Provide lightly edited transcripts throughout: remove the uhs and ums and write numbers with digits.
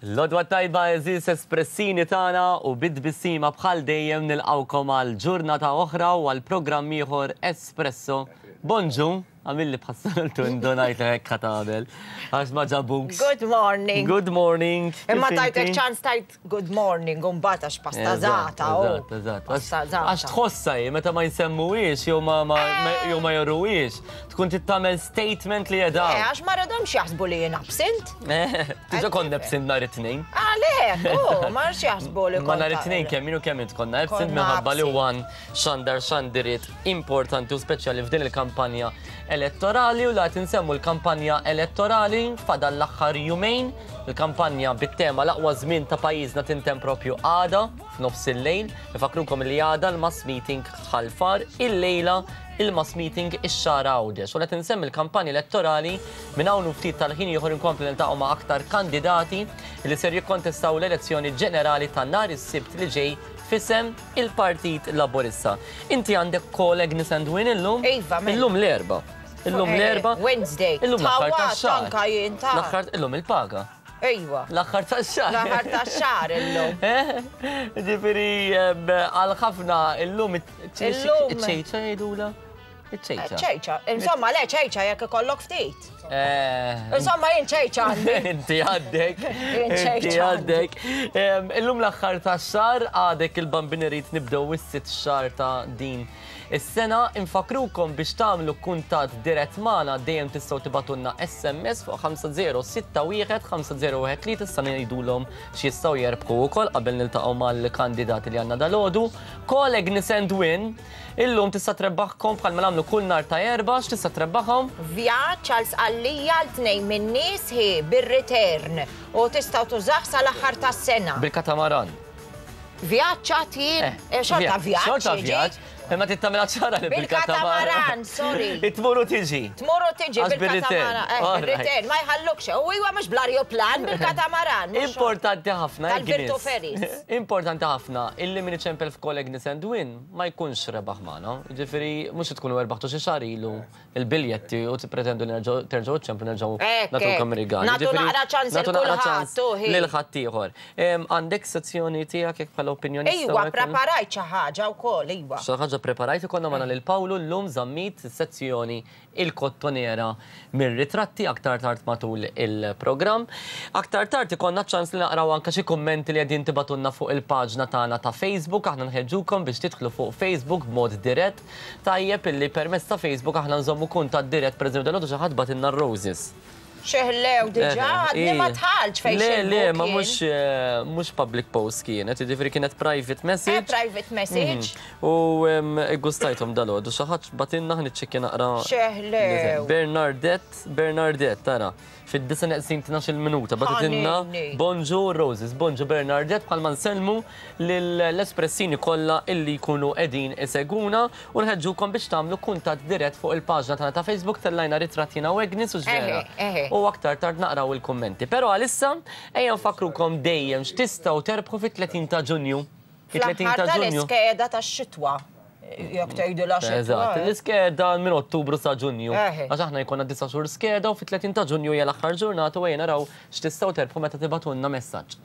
L-għodwa t-tajba għeżież espressini tagħna u bi tbissima bħal dejjem nilqgħukom għal ġurnata oħra u għal programm ieħor Espresso. Bonġu, għamilli bħas-soltu indunajt li hekk ħa tagħmel għax ma ġabukx. Good morning. Good morning. Imma tajtek ċans tajt good morning u mbagħad għax pastazata. Eżatt, eżatt. Għax tħossha hi meta ma jsemmuhiex jew ma jew ma joruhiex. Tkun trid tagħmel statement li qiegħda. Eh, għax ma rridhomx jaħsbu li jien absent. Eh, diġà konna absent nhar it-tnejn. Għalhekk, oh, ma rridx jaħsbu li Ma nhar it-tnejn kemm jien u kemm int konna absent minħabba li one xandar xandiriet importanti u speċjali f'din il-kampanja elettorali u la qed insemmu l-kampanja elettorali fadal l-aħħar jumejn, il-kampanja bit-tema l-aqwa żmien ta' pajjiżna tintemm propju għada f'nofs il-lejl. Nfakkrukom li għada l-mass meeting Ħal Far illejla il-mass meeting ix-Xagħra Għawdex. U qed insemmi l-kampanja elettorali minn hawn u ftit tal-ħin ieħor inkompli niltaqgħu ma' aktar kandidati li ser jikkontestaw l-elezzjoni ġenerali ta' nhar is-Sibt li ġej f'isem il-Partit Laburista. Inti għandek call Agnes and Win illum? Iva, mela. Illum l-Erbgħa. Illum eh, l-Erbgħa. Wednesday. Illum l-aħħar tax-xahar. Anka jien ta' L-aħħar illum il-paga. Ejwa. L-aħħar tax-xahar. L-aħħar tax-xahar illum. Eh? Ġifieri għal ħafna illum iċ-ċejċa jgħidula. Iċ-ċejċa. ċejċa. Insomma, le ċejċa jekk ikollok ftit. Eh. Insomma, jien ċejċa għandi. Inti għandek. Inti għandek. Illum l-aħħar tax-xahar għadek il-bambini rrid nibdew is-sitt xahar ta' din Is-sena infakkrukom biex tagħmlu kuntatt dirett magħna dejjem tistgħu tibgħatulna SMS fuq 5061 5013 issa ngħidulhom x'jistgħu jerbħu wkoll qabel niltaqgħu mal-kandidati li għandna dalgħodu. Call Agnes and Win illum tista' trebbaħkom bħalma nagħmlu kull nhar ta' Erbgħa x'tista' trebbaħhom? Vjaġġ għal Sqallija għal tnejn min-nies hi bir-return u tistgħu tużah sal-aħħar tas-sena. Bil-katamaran. Vjaġġ għad jien, eh, eh, xorta vjaġġ. Xorta vjaġġ, imma trid tagħmilha ċara li bil-katamaran. Sorry. Tmur u tiġi. Tmur u tiġi bil-katamaran. Eh, bil-return, ma jħallukx. U iwa mhux bl-arjuplan bil-katamaran. Importanti ħafna. Tal-Virtu Ferris. Importanti ħafna illi min iċempel f'Call Agnes and Win ma jkunx rebaħ magħna. Ġifieri mhux tkunu erbaħtu xi xahar ilu il-biljetti u tippretendu li terġgħu ċċemplu nerġgħu nagħtukom rigal. Nagħtu naqra ċans lil kulħadd. Lil ħaddieħor. Għandek sezzjoni tiegħek jekk bħala opinjonista? Iwa, ppreparajt xi ħaġa wkoll, iwa. Xi ħaġa ppreparajt, ikollna magħna lil Pawlu llum Zammit, sezzjoni Il-Kottonera mir-ritratti aktar tard matul il-programm. Aktar tard ikollna ċ-ċans li naqraw anke xi kummenti li qegħdin tibagħtulna fuq il-paġna tagħna ta' Facebook. Aħna nħeġġukom biex tidħlu fuq Facebook b'mod dirett. Tajjeb illi permezz ta' Facebook aħna nżommu kuntatt dirett, pereżempju dalgħodu xi ħadd bagħtilna r-roses. Xeħlew diġà, għadni ma dħaltx fejn Le, le, ma mhux mhux public post kienet, jiġifieri kienet private message. Eh, private message. U ggustajthom dalgħodu, xi ħadd bagħtilna ħa niċċekkja naqra. Xeħlew. Bernardette, Bernardette, tara. Fid-disa' neqsin tnax-il minuta bagħtitilna Bonġu Roses, Bonġu Bernardette bħalma nsellmu lill-espressini kollha illi jkunu qegħdin isegwuna u nħeġġukom biex tagħmlu kuntatt dirett fuq il-paġna tagħna ta' Facebook tellajna ritratt jiena u Agnes u x'vera. U aktar tard naqraw il-kummenti. Però għalissa ejja nfakkrukom dejjem x'tistgħu terbħu fit-30 ta' Ġunju. Fl-aħħar tal-iskeda tax-xitwa. Jekk tgħidilha xitwa. Eżatt, l-iskeda minn Ottubru sa Ġunju. Għax aħna jkollna disa' xhur skeda u fit-30 ta' Ġunju hija l-aħħar ġurnata u ejja naraw x'tistgħu terbħu meta tibagħtulna messaġġ.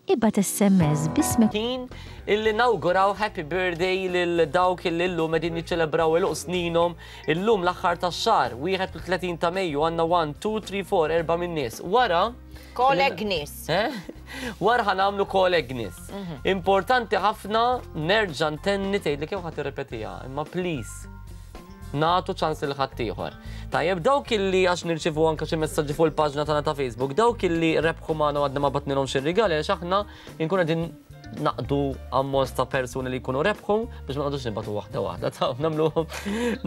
Ibgħat SMS b'ismek. Ħin illi nawguraw happy birthday lil dawk illi llum qegħdin jiċċelebraw għeluq sninhom. Illum l-aħħar tax-xahar, 31 ta' Mejju għandna 1, 2, 3, 4, erba' min-nies. Wara Call Agnes. Eh? Wara ħa nagħmlu call Agnes. Mhm. Importanti ħafna nerġa' ntenni tgħidli kemm ħadd irrepetiha, imma please nagħtu ċans lil ħaddieħor. Tajjeb dawk illi għax nirċivu anke xi messaġġi fuq il-paġna tagħna ta' Facebook, dawk illi rebħu magħna għadna ma batnilhomx ir-rigali għax aħna nkunu qegħdin naqdu ammont ta' persuni li jkunu rebħu biex ma nqogħdux nibatu waħda waħda ta' nagħmluhom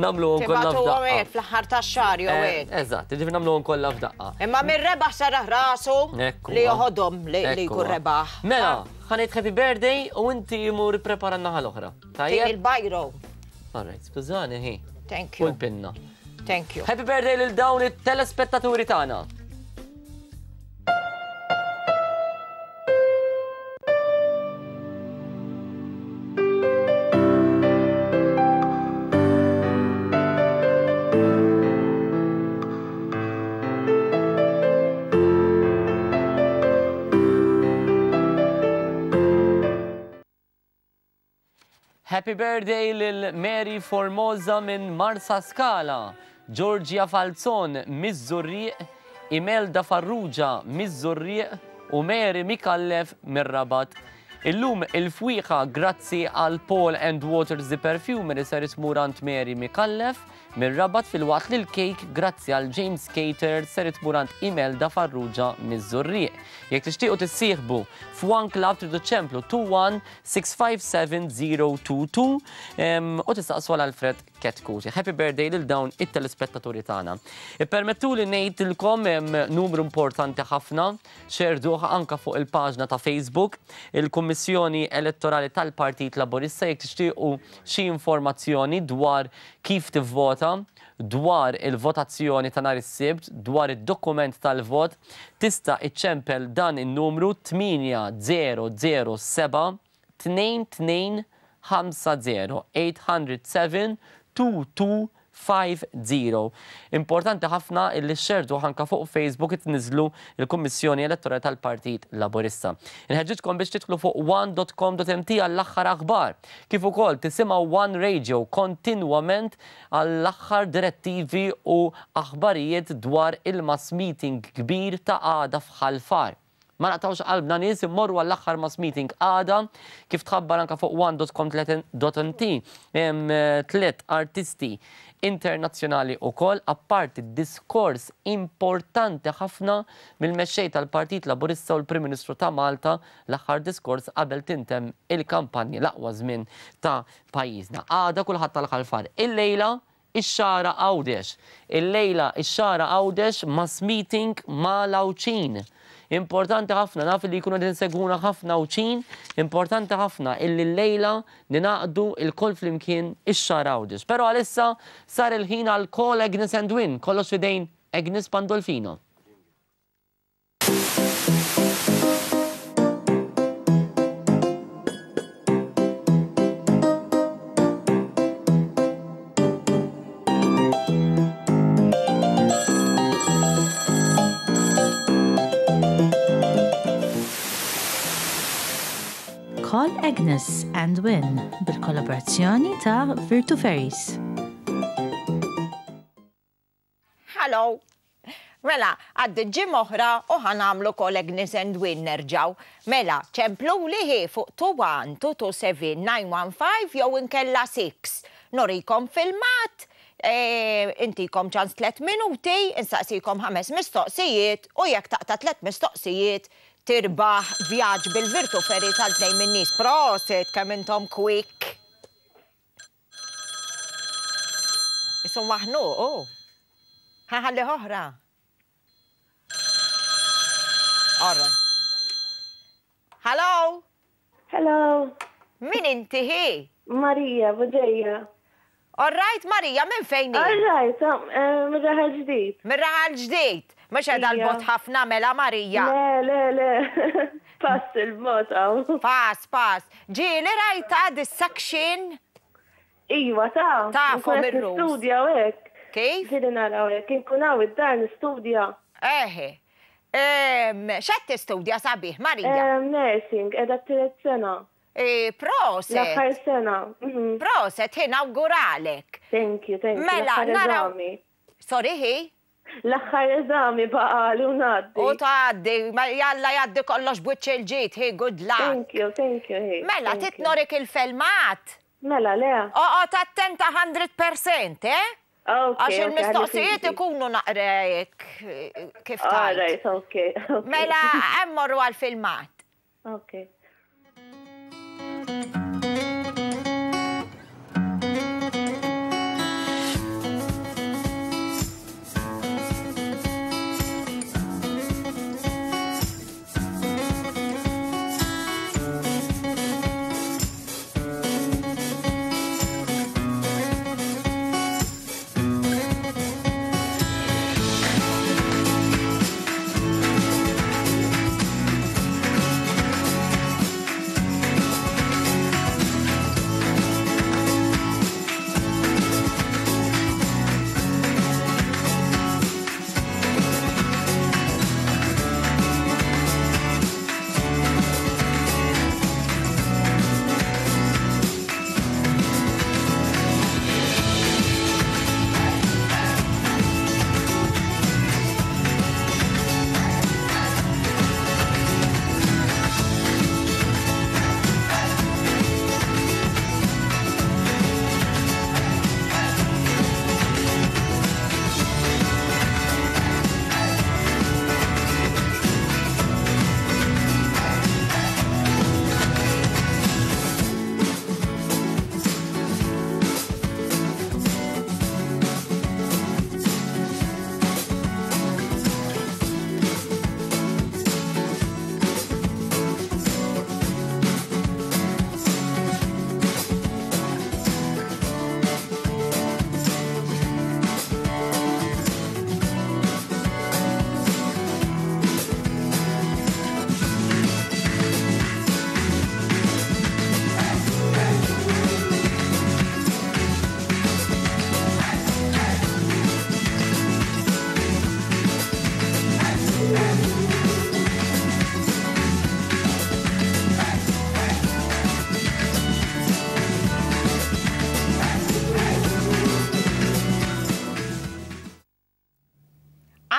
nagħmluhom kollha f'daqqa. fl-aħħar tax-xahar jew eh, hekk. Eżatt, jiġifieri nagħmluhom kollha f'daqqa. Imma min rebaħ serraħ rasu li joħodhom li jkun rebaħ. Mela, ħa ngħid happy birthday u inti imur ipprepara n-naħa l-oħra. Tajjeb. Il-bajro. All right, skużani hi. Thank you. U l-pinna. Thank you. Happy birthday lil dawn it-telespettaturi tagħna. Happy birthday lil Mary Formosa minn Marsaskala, Georgia Falzon miż-Żurrieq, Imelda Farrugia miż-Żurrieq u Mary Micallef mir-Rabat. Illum il-fwieħa grazzi għal Paul and Waters the Perfumery ser tmur għand Mary Micallef mir-Rabat filwaqt li l-kejk grazzi għal James Cater ser tmur għand Imelda Farrugia miż-Żurrieq. Jekk tixtiequ tissieħbu f'One Club tridu ċċemplu 21 657 022 u tistaqsu għal Alfred Ketkuti. Happy birthday lil dawn it-telespettaturi tagħna. Ippermettuli ngħidilkom numru importanti ħafna xerduh anka fuq il-paġna ta' Facebook, il-Kummissjoni Elettorali tal-Partit Laburista jekk tixtiequ xi informazzjoni dwar kif tivvota, dwar il-votazzjoni ta' nhar is-Sibt, dwar id-dokument tal-vot, tista' iċċempel dan in-numru 8007 2250 807 2250. Importanti ħafna illi xxerdu anka fuq Facebook tniżlu il-Kummissjoni Elettorali tal-Partit Laburista. Inħeġġitkom biex tidħlu fuq one.com.mt għall-aħħar aħbar, kif ukoll tisimgħu One Radio kontinwament għall-aħħar direttivi u aħbarijiet dwar il-mass meeting kbir ta' għada f'Ħal Far. Ma naqtgħux qalbna nies, immorru għall-aħħar mass meeting għada, kif tħabbar anka fuq one.com.mt, hemm tliet artisti internazzjonali wkoll, apparti diskors importanti ħafna mill-mexxej tal-Partit Laburista u l-Prim Ministru ta' Malta, l-aħħar diskors qabel tintemm il-kampanja, l-aqwa żmien ta' pajjiżna. Għada kulħadd tal-Ħal Far. Illejla ix-Xagħra Għawdex. Illejla ix-Xagħra Għawdex mass meeting ma' l-Għawdxin. Importanti ħafna, naf li jkunu qegħdin isegwuna ħafna Għawdxin, importanti ħafna illi llejla ningħaqdu lkoll flimkien ix-Xagħra Għawdex. Però għalissa sar il-ħin għal Call Agnes and Win, kollox f'idejn Agnes Pandolfino. Call Agnes and Win bil-kollaborazzjoni ta' Virtu Ferries. Hello. Mela, għaddiet ġimgħa oħra u ħa nagħmlu call Agnes and Win nerġgħu. Mela, ċempluli hi fuq 21 227 915 jew inkella 6. Nurikom filmat, intikom ċans tliet minuti, insaqsikom ħames mistoqsijiet u jekk taqta' tliet mistoqsijiet tirbaħ vjaġġ bil-Virtu Ferries għal tnejn min-nies. Prosit kemm intom quick. Isu maħnuq, hu. Ħa nħallih oħra. All right. Hello? Hello. Min inti hi? Marija, Buġeja. All right, Marija, minn fejn hi? All right, mir-Raħal Ġdid. Mir-Raħal Ġdid. Mhux qiegħda 'l bogħod ħafna mela Marija. Le, le, le. Pass il-bogħod hawn. Pass, pass. Ġieli rajtha dis-section? Iva, ta. Tafhom ir-rules. Nistudja u hekk. Kif? Ġieli naraw hekk, inkun hawn id-dar nistudja. Eħe. X'qed tistudja sabiħ, Marija? Nursing, qiegħda t-tielet sena. Proset. L-aħħar sena. Proset, hi nawguralek. Thank you, thank you. Mela, naraw. Sorry, hi? L-aħħar eżami baqali u ngħaddi. U tgħaddi, jalla jgħaddi kollox b'wiċċ il-ġid, hi, good luck. Thank you, thank you, hi. Mela, trid norik il-felmat? Mela, le. Oqgħod attenta 100%, eh? Ok. Għax il-mistoqsijiet ikunu naqra hekk kif tgħid. All right, okay. Mela, hemm morru għall-filmat. Okay.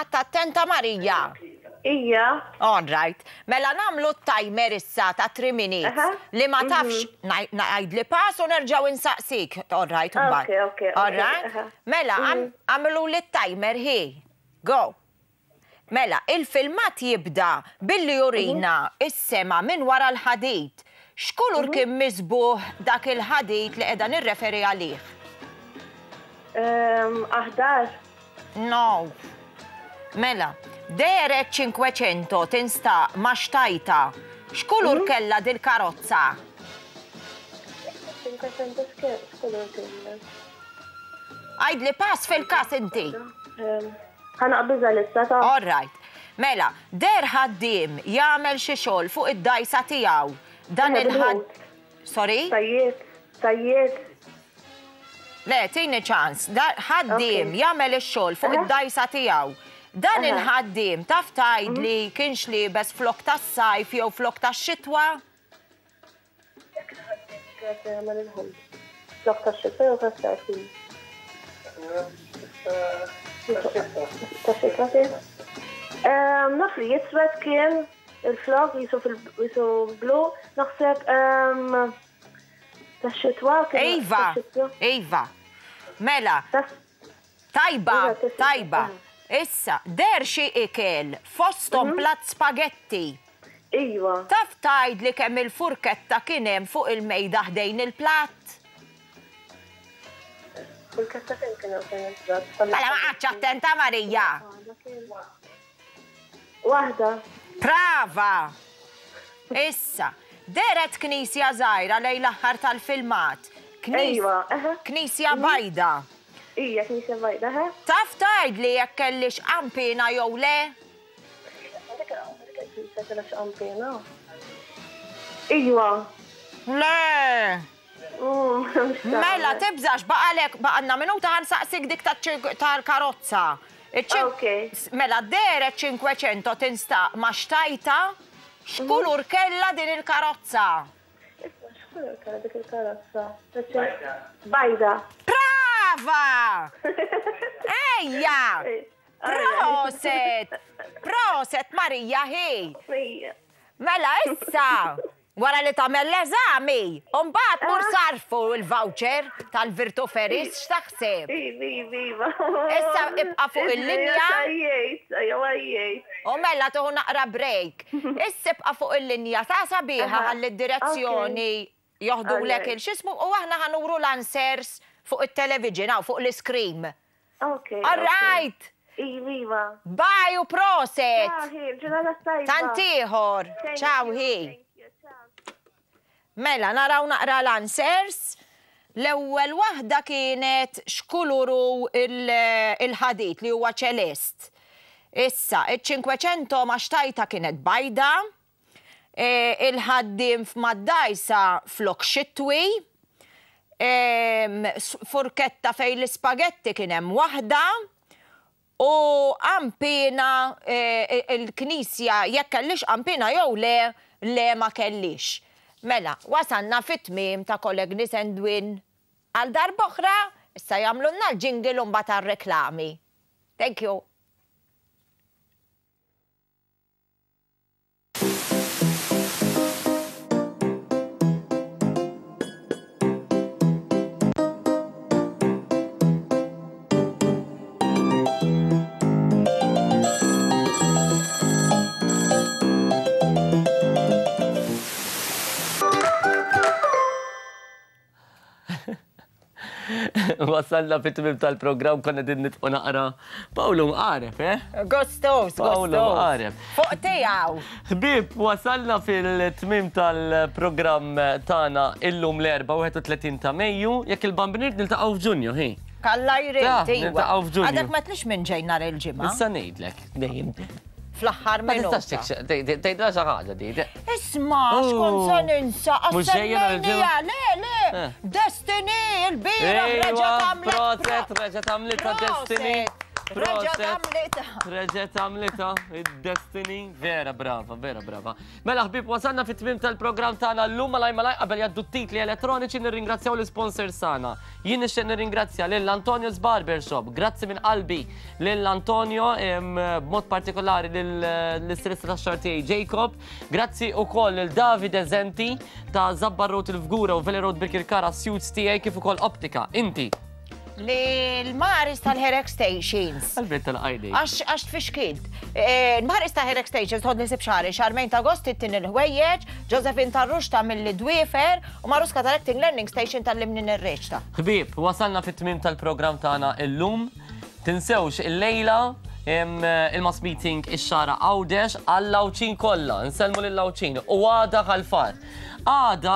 Għadt attenta Marija? Ija. All right. Mela nagħmlu t-timer issa ta' 3 minutes. Li ma tafx ngħidli pass u nerġgħu insaqsik. All right, imbagħad. Okay, okay. All right? Mela, għamluli t-timer hi. Go. Mela, il-filmat jibda billi jurina s-sema minn wara l-ħadid. X'kulur kien miżbugħ dak il-ħadid li qiegħda nirreferi għalih? Aħdar. No. Mela, dehret Cinquecento tinstaq ma' xtajta. X'kulur kellha dil-karozza? Cinquecento x'kulur kellha? Għidli pass fil-każ inti. Ħa naqbiżha lissa ta'. All right. Mela, deher ħaddiem jagħmel xi xogħol fuq id-dgħajsa tiegħu. Dan il-ħadd. Sorry? Sajjied. Sajjied. Le, tini ċans. Ħaddiem jagħmel ix-xogħol fuq id-dgħajsa tiegħu. Dan il-ħaddiem taf tgħidli kienx liebes flokk tas-sajf jew flokk tax-xitwa? Jekk il-ħaddiem kien qed jagħmel il-ħobż, flokk tax-xitwa jew tas-sajf kien? Tax-xitwa kien. Naf li iswed kien il-flokk jisu blu, naħseb tax-xitwa kien. Iva, iva. Mela, tajba, tajba. Issa, deher xi ikel fosthom platt spagetti. Iva. Taf tgħidli kemm il-furketta kien hemm fuq il-mejda ħdejn il-platt? Furketta kemm kien hemm ħdejn il-platt? Mela ma qgħadtx attenta Marija. Waħda. Prava! Issa, dehret knisja żgħira lejn l-aħħar tal-filmat. Ejwa, eħe. Knisja bajda. Ija, knisja bajda, eħe. Taf tgħidli jekk kellhiex qanpiena jew le? Dik il-knisja kellha xi qanpiena? Ejwa. Le! Mela, tibżax, baqalek, baqalna minuta ħa nsaqsik dik tal-karozza. Mela, dehret 500 tinstaq ma' xtajta, x'kulur kellha din il-karozza? Isma' x'kulur kellha dik il-karozza? Bajda. Brava! Ejja! Proset! Proset Marija hi! Mela issa, wara li tagħmel l-eżami, u mbagħad mur sarfu l-voucher tal-Virtu Ferries, x'taħseb? Iva, iva, iva. Issa ibqa' fuq il-linja. U mela tieħu naqra break. Issa ibqa' fuq il-linja ta' sabiħa ħalli d-direzzjoni joħdulek il-x'ismu u aħna ħa nuru l-answers fuq it-television hawn fuq l-iscreen. Ok. All right! Iva, iva. Bye u proset! Ciao, hi, ġurnata tajba. Tant ieħor. Ciao, hi. Mela, naraw naqra l-answers. L-ewwel waħda kienet x'kulur hu il-ħadid li huwa ċelest. Issa, iċ-Cinquecento ma xtajta kienet bajda, Il-ħaddiem f'mad-dgħajsa flok xitwi. Furketta fejn l-ispagetti kien hemm waħda. U qanpiena il-knisja jekk kellhiex qanpiena jew le, le ma kellhiex. Mela, wasalna fit-tmiem ta' Colegnis and Win għal darb'oħra, issa jagħmlulna l-jingle u mbagħad għar-reklami. Thank you. Wasalna fit-tmiem tal-programm konna din nitqu naqra. Pawlu mqareb, eh? Gustos, Pawlu mqareb. Fuq tiegħu. Ħbieb, wasalna fil-tmiem tal-programm tagħna illum l-Erbgħa 31 ta' Mejju, jekk il-Bambin irid niltaqgħu f'Ġunju, hi. Kalla jrid, iva. Niltaqgħu f'Ġunju. Għadek ma tlix minn ġej nhar il-Ġimgħa. Issa ngħidlek, dejjem. Fl-aħħar minuta. Ma tistax tgħidilha xi ħaġa di. Isma' x'kont se ninsa, għas-semmejnija, le, le, eh. Destiny, il-bieraħ reġgħet għamlet. Proset, reġgħet għamlitha Destiny. Reġgħet għamlitha. Reġgħet għamlitha, id-destiny. Vera brava, vera brava. Mela ħbieb wasalna fit-tmiem tal-programm tagħna llum malaj malaj qabel jgħaddu t-titli elettroniċi nirringrazzjaw l-isponsors tagħna. Jien nixtieq nirringrazzja lil Antonio's Barbershop. Grazzi minn qalbi lil Antonio b'mod partikolari lill-istilista tax-xagħar tiegħi Jacob. Grazzi wkoll lil Davide Zenti ta' Zabbar Road il-Fgura u Valley Road Birkirkara suits tiegħi kif ukoll Optika. Inti. L-Maris tal-Hair Extensions. Għalfejn tal-għajni. Għax tfixkilt. Eh, L-Maris ta' Hair Extensions tħodni sib xari, xarmejn ta' Agost tittin il-ħwejjeġ, Josephine Tarrux ta' mill dwiefer u Maruska tal-Acting Learning Station tal-limni nirreċta. Ħbieb, wasalna fit-tmiem tal-programm tagħna illum. Tinsewx illejla il-mass meeting ix-Xagħra Għawdex għall-Għawdxin kollha. Nsellmu lill-Għawdxin u għada Ħal Far. Għada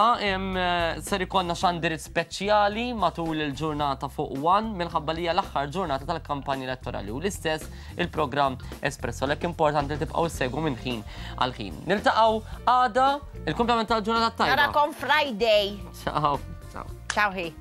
ser ikollna xandirit speċjali matul il-ġurnata fuq One minħabba li hija l-aħħar ġurnata tal-kampanja elettorali u l-istess il-programm Espresso. Għalhekk importanti li tibqgħu ssegwu minn ħin għal ħin. Niltaqgħu għada il-kumplament tal-ġurnata tajba. Narakom Friday. Ciao. Ciao. Ciao hi.